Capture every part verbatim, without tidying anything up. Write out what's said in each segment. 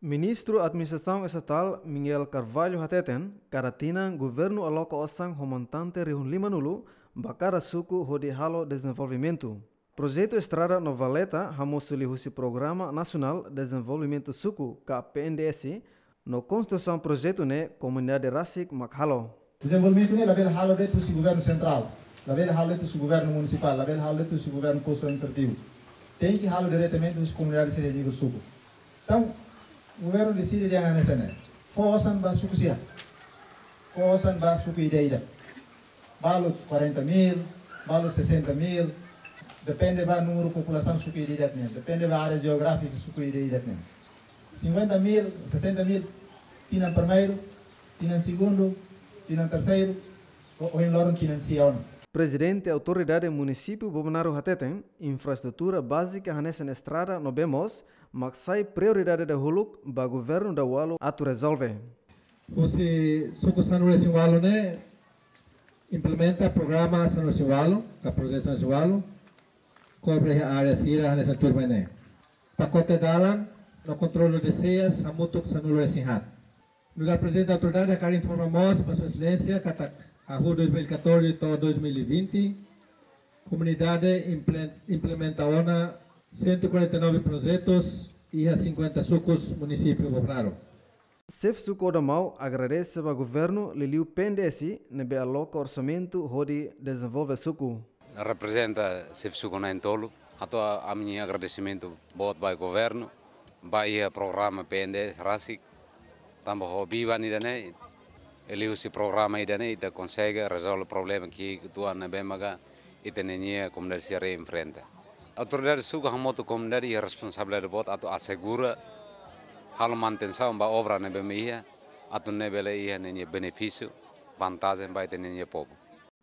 Ministru Administrasaun Estatál Miguel Carvalho hateten, kada tinan governu aloka osan ho montante rihun lima-nulu ba kada suku hodi halo dezenvolvimentu. Projetu estrada no valeta hamosu liuhusi Programa Nasionál Dezenvolvimentu Suku ka P N D S, no konstrusaun projetu ne'e komunidade rasik mak halo. Dezenvolvimentu ne'e labele halo de'it husi governu sentrál, labele halo de'it husi governu munisipál, labele halo de'it husi governu postu administrativu. Tenke halo diretamente husi komunidade sira iha nivel suku. Entaun, governu deside dehan hanesan ne'e: fó osan ba suku sira. Fó osan ba suku ida-idak. Balu quarenta mil, balu sessenta mil, depende ba númeru populasaun suku ida-idak nian, depende ba área jeográfika suku ida-idak nian. Cinquenta mil, sessenta mil, tinan primeiru, tinan segundu, tinan terseiru, ou, ou em loron tinan sia ona. Prezidente Autoridade Munisípiu Bobonaro hateten, infraestrutura bázika hanesan estrada no bee moos mak sai prioridade dahuluk ba governu daualu atu rezolve. Husi suku sanulu-resin-ualu ne'e implementa programa sanulu-resin-ualu, ka projetu sanulu-resin-ualu, kobre iha área sira hanesan tuirmai ne'e. Pakote dalan no kontrolu de seias hamutuk sanulu-resin-haat. Nu'udar Prezidente Autoridade hakarak informa mós ba Sua Exelénsia katak hahú dois mil e catorze to'o dois mil e vinte, komunidade imple-, implementa ona cento e quarenta e nove projetus iha cinquenta sukus munisípiu Bobonaro. Xefe Suku Odamau agradese ba governu liuliu P N D S ne'ebé aloka orsamentu hodi dezenvolve suku. Reprezenta xefe suku na'in-tolu, hato'o ami-nia agradesimentu boot ba governu, ba iha programa P N D S rasik, tanba ho biban ida-ne'e, liuhusi programa ida-ne'e ita konsege rezolve problema ki'ik uitoan ne'ebé maka ita-nia komunidade sira enfrenta. Autoridade suku hamutuk komunidade iha responsabilidade boot atu asegura halo manutensaun ba obra ne'ebé mak iha, atu nune'e bele iha ninia benefísiu, vantajen ba ita-nia povu.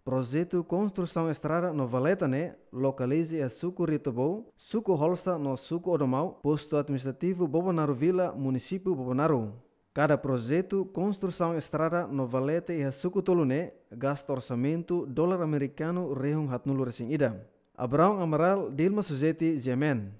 Projetu konstrusaun estrada no valeta ne'e lokaliza iha suku Ritobou, suku Holsa no suku Odamau, postu administrativu Bobonaro Vila, munisípiu Bobonaro. Kada projetu konstrusaun estrada no valeta iha suku tolu ne'e gasta orsamentu dolar amerikanu rihun haatnulu-resin-ida. Abraão Amaral, Dilma Suzeti, G M N.